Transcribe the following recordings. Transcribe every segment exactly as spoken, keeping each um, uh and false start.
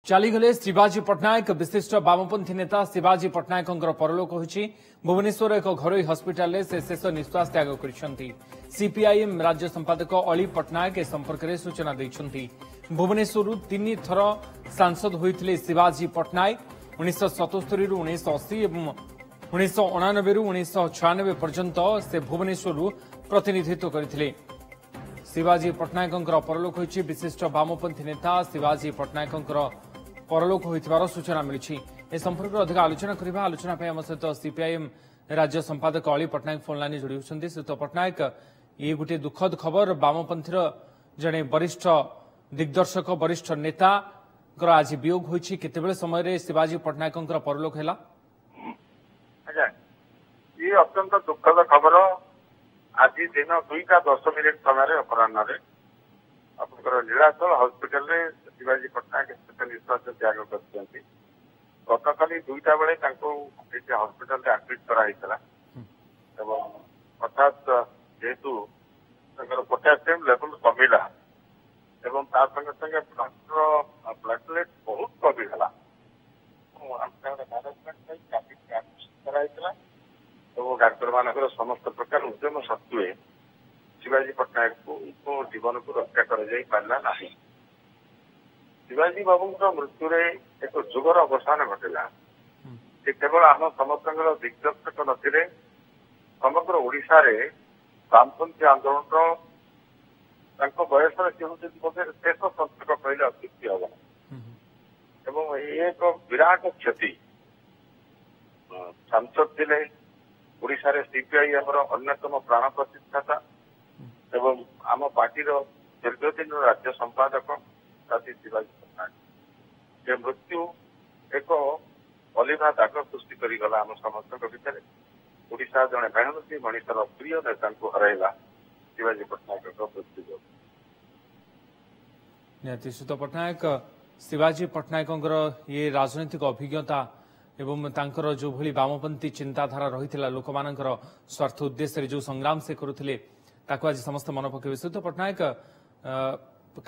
ଚାଲିଗଲେ ଶିବାଜୀ ପଟ୍ଟନାୟକ। ବିଶିଷ୍ଟ ବାମପନ୍ଥୀ ନେତା ଶିବାଜୀ ପଟ୍ଟନାୟକଙ୍କର ପରଲୋକ ହୋଇଛି। ଭୁବନେଶ୍ୱର ଏକ ଘରୋଇ ହସ୍ପିଟାଲରେ ସେ ଶେଷ ନିଶ୍ୱାସ ତ୍ୟାଗ କରିଛନ୍ତି। ସିପିଆଇଏମ୍ ରାଜ୍ୟ ସମ୍ପାଦକ ଅଳି ପଟ୍ଟନାୟକ ଏ ସମ୍ପର୍କରେ ସୂଚନା ଦେଇଛନ୍ତି। ଭୁବନେଶ୍ୱରରୁ ତିନି ଥର ସାଂସଦ ହୋଇଥିଲେ ଶିବାଜୀ ପଟ୍ଟନାୟକ। ଉଣେଇଶହ ସତସ୍ତରୀରୁ ଉଣେଇଶହ ଅଶୀ ଏବଂ ଉଣେଇଶହ ଅଣାନବେରୁ ଉଣେଇଶହ ଛୟାନବେ ପର୍ଯ୍ୟନ୍ତ ସେ ଭୁବନେଶ୍ୱରରୁ ପ୍ରତିନିଧିତ୍ୱ କରିଥିଲେ। ଶିବାଜୀ ପଟ୍ଟନାୟକଙ୍କର ପରଲୋକ ହୋଇଛି। ବିଶିଷ୍ଟ ବାମପନ୍ଥୀ ନେତା ଶିବାଜୀ ପଟ୍ଟନାୟକଙ୍କର ପରଲୋକ ହୋଇଥିବାର ସୂଚନା ମିଳିଛି। ଏ ସମ୍ପର୍କରେ ଅଧିକ ଆଲୋଚନା କରିବା। ଆଲୋଚନା ପାଇଁ ଆମ ସହିତ ସିପିଆଇଏମ୍ ରାଜ୍ୟ ସମ୍ପାଦକ ଅଳି ପଟ୍ଟନାୟକ ଫୋନ୍ ଲାଇନରେ ଯୋଡ଼ି ହେଉଛନ୍ତି। ଶ୍ରୀଯୁକ୍ତ ପଟ୍ଟନାୟକ, ଇଏ ଗୋଟିଏ ଦୁଃଖଦ ଖବର। ବାମପନ୍ଥୀର ଜଣେ ବରିଷ୍ଠ ଦିଗ୍ଦର୍ଶକ, ବରିଷ୍ଠ ନେତାଙ୍କର ଆଜି ବିୟୋଗ ହୋଇଛି। କେତେବେଳେ ସମୟରେ ଶିବାଜୀ ପଟ୍ଟନାୟକଙ୍କର ପରଲୋକ ହେଲା? ଆଜ୍ଞା, ଇଏ ଅତ୍ୟନ୍ତ ଦୁଃଖଦ ଖବର। ଆଜି ଦିନ ଦୁଇଟା ଦଶ ମିନିଟ୍ ସମୟରେ ଅପରାହ୍ନରେ ଆପଣଙ୍କର ନୀଳାଚଳ ହସ୍ପିଟାଲରେ ଶିବାଜୀ ପଟ୍ଟନାୟକ ଶେଷ ନିଶ୍ୱାସ ତ୍ୟାଗ କରିଛନ୍ତି। ଗତକାଲି ଦୁଇଟା ବେଳେ ତାଙ୍କୁ ଏଠି ହସ୍ପିଟାଲରେ ଆଡମିଟ୍ କରାହେଇଥିଲା ଏବଂ ହଠାତ୍ ଯେହେତୁ ତାଙ୍କର ପୋଟାସିୟମ ଲେଭେଲ କମିଲା ଏବଂ ତା ସଙ୍ଗେ ସଙ୍ଗେ ବ୍ଲଡର ପ୍ଲାଟଲେଟ୍ ବହୁତ କମିଗଲା, ତାଙ୍କର ମ୍ୟାନେଜମେଣ୍ଟ ପାଇଁ ଆଡମିସନ କରାହେଇଥିଲା ଏବଂ ଡାକ୍ତରମାନଙ୍କର ସମସ୍ତ ପ୍ରକାର ଉଦ୍ୟମ ସତ୍ତ୍ୱେ ଶିବାଜୀ ପଟ୍ଟନାୟକଙ୍କୁ ଜୀବନକୁ ରକ୍ଷା କରାଯାଇ ପାରିଲା ନାହିଁ। ଶିବାଜୀ ବାବୁଙ୍କ ମୃତ୍ୟୁରେ ଏକ ଯୁଗର ଅବସାନ ଘଟିଲା। ସେ କେବଳ ଆମ ସମସ୍ତଙ୍କର ଦିଗ୍ଦର୍ଶକ ନଥିଲେ, ସମଗ୍ର ଓଡ଼ିଶାରେ ବାମପନ୍ଥୀ ଆନ୍ଦୋଳନର ତାଙ୍କ ବୟସରେ ସେ ହେଉଛନ୍ତି ବୋଧେ ଶେଷ ସନ୍ତକ କହିଲେ ଅତ୍ୟୁକ୍ତି ହେବ ନାହିଁ ଏବଂ ଏ ଏକ ବିରାଟ କ୍ଷତି। ସାଂସଦ ଥିଲେ, ଓଡ଼ିଶାରେ ସିପିଆଇ ଆମର ଅନ୍ୟତମ ପ୍ରାଣ ପ୍ରତିଷ୍ଠାତା ଏବଂ ଆମ ପାର୍ଟିର ଦୀର୍ଘଦିନର ରାଜ୍ୟ ସମ୍ପାଦକ ସାଥୀ ଶିବାଜୀ ପଟ୍ଟନାୟକ। ସେ ମୃତ୍ୟୁ ଏକ ଅଲିଭା ଦାଗ ସୃଷ୍ଟି କରିଗଲା ଆମ ସମସ୍ତଙ୍କ ଭିତରେ। ଓଡ଼ିଶା ଜଣେ ମେହନତୀ ମଣିଷର ପ୍ରିୟ ନେତାଙ୍କୁ ହରାଇଲା ଶିବାଜୀ ପଟ୍ଟନାୟକଙ୍କ ମୃତ୍ୟୁ ଯୋଗୁଁ। ନିହାତି ଶ୍ରୀଯୁକ୍ତ ପଟ୍ଟନାୟକ, ଶିବାଜୀ ପଟ୍ଟନାୟକଙ୍କର ଇଏ ରାଜନୈତିକ ଅଭିଜ୍ଞତା ଏବଂ ତାଙ୍କର ଯେଉଁଭଳି ବାମପନ୍ଥୀ ଚିନ୍ତାଧାରା ରହିଥିଲା, ଲୋକମାନଙ୍କର ସ୍ୱାର୍ଥ ଉଦ୍ଦେଶ୍ୟରେ ଯେଉଁ ସଂଗ୍ରାମ ସେ କରୁଥିଲେ, ତାକୁ ଆଜି ସମସ୍ତେ ମନେ ପକାଇବେ। ଶ୍ରୀଯୁକ୍ତ ପଟ୍ଟନାୟକ,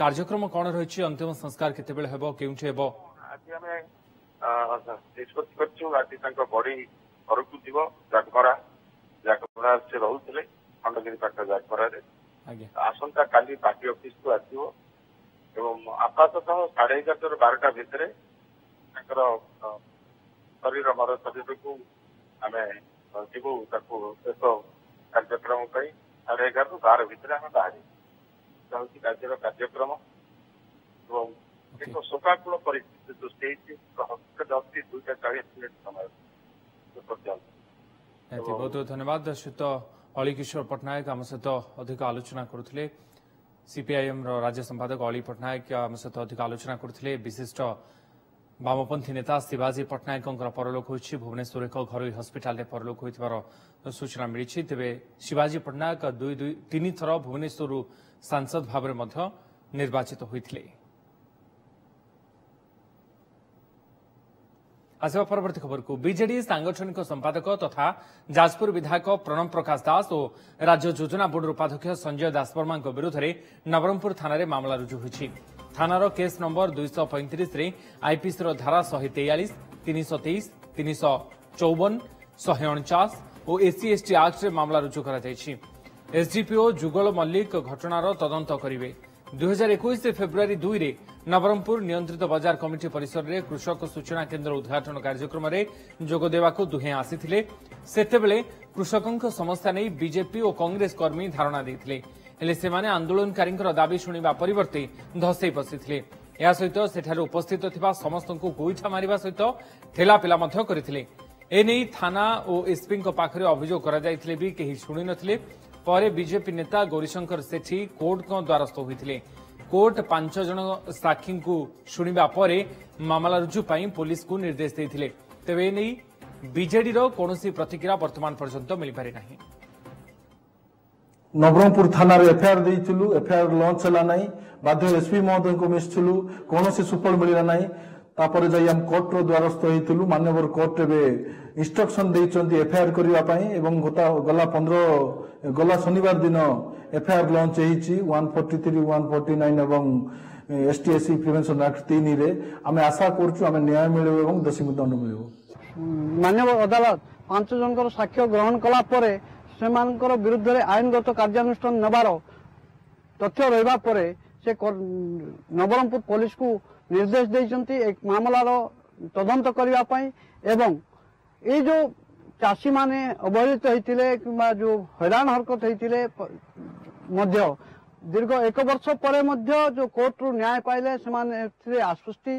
କାର୍ଯ୍ୟକ୍ରମ କ'ଣ ରହିଛି? ଅନ୍ତିମ ସଂସ୍କାର କେତେବେଳେ ହେବ, କେଉଁଠି ହେବ? ଆଜି ଆମେ ନିଷ୍ପତ୍ତି କରିଛୁ, ଆଜି ତାଙ୍କ ବଡି ଘରକୁ ଯିବ। ଜାଗମରା, ଜାଗମରା ସେ ରହୁଥିଲେ ଖଣ୍ଡଗିରି ପାଖ ଜାଗମରାରେ। ଆସନ୍ତା କାଲି ପାର୍ଟି ଅଫିସକୁ ଆସିବ ଏବଂ ଆପାତତଃ ସାଢେ ଏଗାରଟାରୁ ବାରଟା ଭିତରେ ତାଙ୍କର ଶରୀର, ମର ଶରୀରକୁ ଆମେ ଯିବୁ ତାକୁ ଶେଷ କାର୍ଯ୍ୟକ୍ରମ ପାଇଁ। ସାଢେ ଏଗାରରୁ ବାର ଭିତରେ ଆମେ ବାହାରିବୁ। ହେଉଛି କାର୍ଯ୍ୟର କାର୍ଯ୍ୟକ୍ରମ ଏବଂ ଏକ ଶୋକାକୁଳ ପରିସ୍ଥିତି ସୃଷ୍ଟି ହେଇଛି। ହସ୍ପିଟାଲ ଅଛି ଦୁଇଟା ଚାଳିଶ ମିନିଟ୍ ସମୟ ପର୍ଯ୍ୟନ୍ତ। ବହୁତ ବହୁତ ଧନ୍ୟବାଦ ଶ୍ରୀଯୁକ୍ତ ଅଳିକିଶୋର ପଟ୍ଟନାୟକ, ଆମ ସହିତ ଅଧିକ ଆଲୋଚନା କରୁଥିଲେ। ସିପିଆଇଏମ୍ ର ରାଜ୍ୟ ସମ୍ପାଦକ ଅଳି ପଟ୍ଟନାୟକ ଆମ ସହିତ ଅଧିକ ଆଲୋଚନା କରୁଥିଲେ। ବିଶିଷ୍ଟ ବାମପନ୍ଥୀ ନେତା ଶିବାଜୀ ପଟ୍ଟନାୟକଙ୍କର ପରଲୋକ ହୋଇଛି। ଭୁବନେଶ୍ୱର ଏକ ଘରୋଇ ହସ୍ପିଟାଲରେ ପରଲୋକ ହୋଇଥିବାର ସୂଚନା ମିଳିଛି। ତେବେ ଶିବାଜୀ ପଟ୍ଟନାୟକ ଦୁଇ ଦୁଇ ତିନି ଥର ଭୁବନେଶ୍ୱରରୁ ସାଂସଦ ଭାବରେ ମଧ୍ୟ ନିର୍ବାଚିତ ହୋଇଥିଲେ। ଆସିବା ପରବର୍ତ୍ତୀ ଖବରକୁ। ବିଜେଡି ସାଂଗଠନିକ ସମ୍ପାଦକ ତଥା ଯାଜପୁର ବିଧାୟକ ପ୍ରଣବ ପ୍ରକାଶ ଦାସ ଓ ରାଜ୍ୟ ଯୋଜନା ବୋର୍ଡର ଉପାଧ୍ୟକ୍ଷ ସଞ୍ଜୟ ଦାସବର୍ମାଙ୍କ ବିରୁଦ୍ଧରେ ନବରଙ୍ଗପୁର ଥାନାରେ ମାମଲା ରୁଜୁ ହୋଇଛି। ଥାନାର କେସ୍ ନମ୍ବର ଦୁଇଶହ ପଇଁତିରିଶରେ ଆଇପିସିର ଧାରା ଶହେ ତେୟାଳିଶ, ତିନିଶହ ତେଇଶ, ତିନିଶହ ଚଉବନ, ଶହେ ଅଣଚାଶ ଓ ଏସ୍ସି ଏସ୍ଟି ଆକ୍ଟରେ ମାମଲା ରୁଜୁ କରାଯାଇଛି। ଏସ୍ଡିପିଓ ଯୁଗଳ ମଲ୍ଲିକ ଘଟଣାର ତଦନ୍ତ କରିବେ। ଦୁଇହଜାର ଏକୋଇଶ ଫେବୃଆରୀ ଦୁଇରେ ନବରଙ୍ଗପୁର ନିୟନ୍ତ୍ରିତ ବଜାର କମିଟି ପରିସରରେ କୃଷକ ସୂଚନା କେନ୍ଦ୍ର ଉଦ୍ଘାଟନ କାର୍ଯ୍ୟକ୍ରମରେ ଯୋଗ ଦେବାକୁ ଦୁହେଁ ଆସିଥିଲେ। ସେତେବେଳେ କୃଷକଙ୍କ ସମସ୍ୟା ନେଇ ବିଜେପି ଓ କଂଗ୍ରେସ କର୍ମୀ ଧାରଣା ଦେଇଥିଲେ। ହେଲେ ସେମାନେ ଆନ୍ଦୋଳନକାରୀଙ୍କର ଦାବି ଶୁଣିବା ପରିବର୍ତ୍ତେ ଧସେଇ ପଶିଥିଲେ। ଏହା ସହିତ ସେଠାରେ ଉପସ୍ଥିତ ଥିବା ସମସ୍ତଙ୍କୁ ଗୋଇଠା ମାରିବା ସହିତ ଠେଲାପେଲା ମଧ୍ୟ କରିଥିଲେ। ଏନେଇ ଥାନା ଓ ଏସ୍ପିଙ୍କ ପାଖରେ ଅଭିଯୋଗ କରାଯାଇଥିଲେ ବି କେହି ଶୁଣିନଥିଲେ। ପରେ ବିଜେପି ନେତା ଗୌରୀଶଙ୍କର ସେଠୀ କୋର୍ଟଙ୍କ ଦ୍ୱାରସ୍ଥ ହୋଇଥିଲେ। କୋର୍ଟ ପାଞ୍ଚ ଜଣ ସାକ୍ଷୀଙ୍କୁ ଶୁଣିବା ପରେ ମାମଲା ରୁଜୁ ପାଇଁ ପୋଲିସକୁ ନିର୍ଦ୍ଦେଶ ଦେଇଥିଲେ। ତେବେ ଏନେଇ ବିଜେଡିର କୌଣସି ପ୍ରତିକ୍ରିୟା ବର୍ତ୍ତମାନ ପର୍ଯ୍ୟନ୍ତ ମିଳିପାରି ନାହିଁ। ନବରଙ୍ଗପୁର ଥାନାରେ ଏଫଆଇଆର ଦେଇଥିଲୁ, ଏଫଆଇଆର ଲଞ୍ଚ ହେଲା ନାହିଁ। ବାଧ୍ୟ ଏସପି ମହୋଦୟଙ୍କୁ ମିଶିଥିଲୁ, କୌଣସି ସୁଫଳ ମିଳିଲା ନାହିଁ। ତାପରେ ଯାଇ ଆମେ କୋର୍ଟର ଦ୍ୱାରସ୍ଥ ହେଇଥିଲୁ। ମାନ୍ୟବର କୋର୍ଟ ଏବେ ଇନଷ୍ଟ୍ରକ୍ସନ ଦେଇଛନ୍ତି ଏଫଆଇଆର କରିବା ପାଇଁ ଏବଂ ଗଲା ପନ୍ଦର ଗଲା ଶନିବାର ଦିନ ଏଫଆଇଆର ଲଞ୍ଚ ହେଇଛି। One forty three, one forty nine ଏବଂ S T S C prevention act ତିନିରେ। ଆମେ ଆଶା କରୁଛୁ ଆମେ ନ୍ୟାୟ ମିଳିବ ଏବଂ ଦୋଷୀଙ୍କୁ ଦଣ୍ଡ ମିଳିବ। ମାନ୍ୟବର ଅଦାଲତ ପାଞ୍ଚ ଜଣଙ୍କର ସାକ୍ଷ୍ୟ ଗ୍ରହଣ କଲା ପରେ ସେମାନଙ୍କର ବିରୁଦ୍ଧରେ ଆଇନଗତ କାର୍ଯ୍ୟାନୁଷ୍ଠାନ ନେବାର ତଥ୍ୟ ରହିବା ପରେ ସେ ନବରଙ୍ଗପୁର ପୋଲିସକୁ ନିର୍ଦ୍ଦେଶ ଦେଇଛନ୍ତି ଏ ମାମଲାର ତଦନ୍ତ କରିବା ପାଇଁ। ଏବଂ ଏଇ ଯେଉଁ ଚାଷୀମାନେ ଅବହେଳିତ ହେଇଥିଲେ କିମ୍ବା ଯେଉଁ ହଇରାଣ ହରକତ ହେଇଥିଲେ ମଧ୍ୟ, ଦୀର୍ଘ ଏକ ବର୍ଷ ପରେ ମଧ୍ୟ ଯେଉଁ କୋର୍ଟରୁ ନ୍ୟାୟ ପାଇଲେ, ସେମାନେ ଏଥିରେ ଆଶ୍ୱସ୍ତି।